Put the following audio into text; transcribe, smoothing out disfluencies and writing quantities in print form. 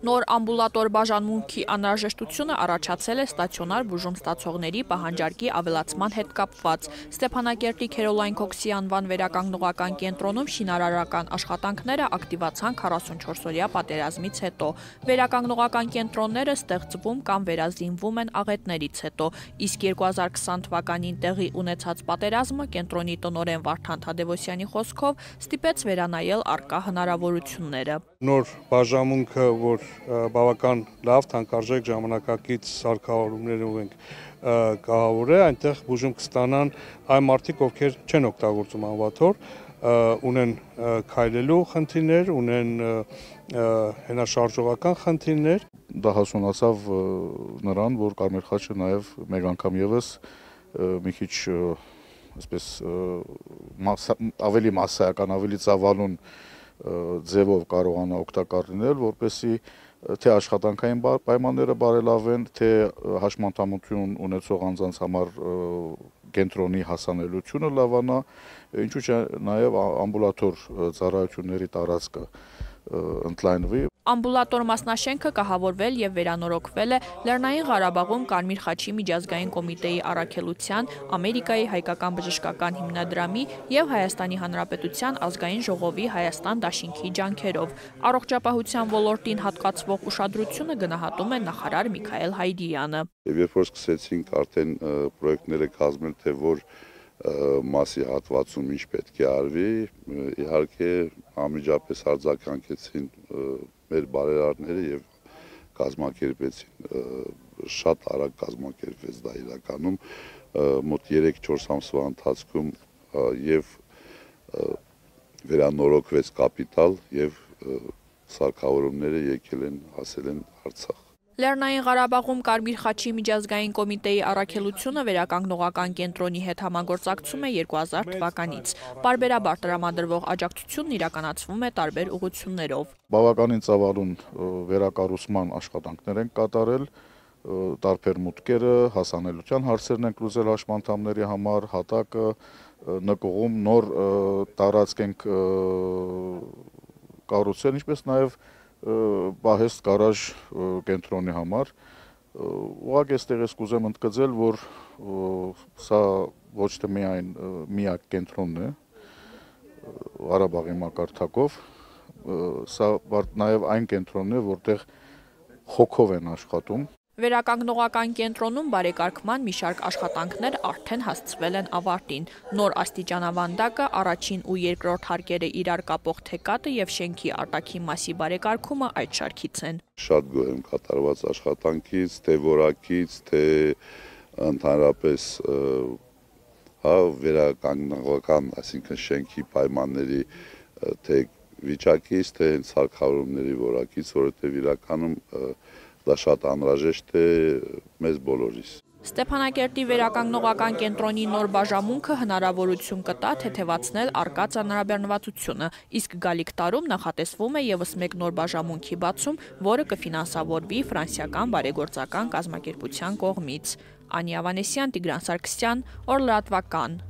Նոր ամբուլատոր բաժանմունքի անհրաժեշտությունը առաջացել է ստացիոնար բուժում ստացողների պահանջարկի ավելացման հետ կապված։ Ստեփանակերտի Քերոլայն Քոքսի անվան վերականգնողական կենտրոնում շինարարական աշխատանքները ակտիվացան 44-օրյա պատերազմից հետո։ Վերականգնողական կենտրոնները ստեղծվում կամ վերազինվում են աղետներից հետո, իսկ 2020 թվականին տեղի ունեցած պատերազմը կենտրոնի տնօրեն Վարդան Թադևոսյանի խոսքով ստիպեց վերանայել առկա հնարավորությունները։ Նոր բաժանմունքը, որ բավական լավ թանկարժեք ժամանակակից սարքավորումներ ունենք կահավոր է, այնտեղ բուժում կստանան այն մարդիկ, ովքեր չեն օգտագործում անվաթոր, ունեն քայլելու խնդիրներ, ունեն հենաշարժողական խնդիրներ։ Դա հասունացավ նրան, որ Կարմիր խաչը նաև մեկ անգամ եւս մի քիչ այսպես ավելի մասսայական, ավելի ծավալուն ձևով կարողանա օգտակար լինել, որպեսզի թե աշխատանքային պայմանները բարելավեն, թե հաշմանդամություն ունեցող անձանց համար կենտրոնի հասանելիությունը լավանա, ինչու՞ չէ նաև ամբուլատոր ծառայությունների տարածքը ընդլայնվի։ Ամբուլատոր մասնաշենքը կահավորվել եւ վերանորոգվել է Լեռնային Ղարաբաղում Կարմիր խաչի միջազգային կոմիտեի առաքելության, Ամերիկայի հայկական բժշկական հիմնադրամի եւ Հայաստանի Հանրապետության ազգային ժողովի Հայաստան դաշինքի ջանքերով։ Առողջապահության ոլորտին հատկացվող ուշադրությունը գնահատում է նախարար Միքայել Հայդիյանը։ Երբ որ սկսեցինք արդեն պրոյեկտները կազմել, թե որ մասի հատվածում ինչ պետք է արվի, իհարկե անմիջապես արձագանքեցին մեր բարերարները եւ կազմակերպեցին, շատ արագ կազմակերպվեց դա իրականում, մոտ 3-4 ամսվա ընթացքում եւ վերանորոգվեց կապիտալ եւ սարքավորումները եկել են, հասել են Արցախ։ Լեռնային Ղարաբաղում Կարմիր խաչի միջազգային կոմիտեի առաքելությունը վերականգնողական կենտրոնի հետ համագործակցում է 2000 թվականից։ Պարբերաբար տրամադրվող աջակցությունն իրականացվում է տարբեր ուղղություններով։ Բավականին ծավալուն վերակառուցման աշխատանքներ են կատարել, տարբեր մուտքերը, հասանելիության հարցերն են լուծել հաշմանդամների համար, հատակը նկողում նոր տարածք ենք կառուցել, ինչպես նաև պահեստ գարաժ կենտրոնի համար, ուղղակի այստեղ ես կուզեմ ընդգծել, որ սա ոչ թե միայն միակ կենտրոնն է Ղարաբաղի մակարդակով, սա նաև այն կենտրոնն է, որտեղ հոգով են աշխատում։ Վերականգնողական կենտրոնում բարեկարգման մի շարք աշխատանքներ արդեն հասցվել են ավարտին։ Նոր աստիճանավանդակը, առաջին ու երկրորդ հարկերը իրար կապող թեկատը եւ շենքի արտաքին մասի բարեկարգումը այդ շարքից են։ Շատ գոհ եմ կատարված աշխատանքից, թե որակից, թե ընդհանրապես վերականգնողական, այսինքն շենքի պայմանների թե վիճակից, թե սարքավորումների որակից, որովհետեւ իրականում դա շատ անհրաժեշտ է մեզ բոլորիս։ Ստեփանակերտի վերականգնողական կենտրոնի նոր բաժանմունքը հնարավորություն կտա թեթևացնել առկա ծանրաբեռնվածությունը, իսկ գալիք տարում նախատեսվում է եւս մեկ նոր բաժանմունքի բացում, որը կֆինանսավորվի ֆրանսիական բարեգործական կազմակերպության կողմից։ Անի Ավանեսյան, Տիգրան Սարգսյան, Օր լրատվական։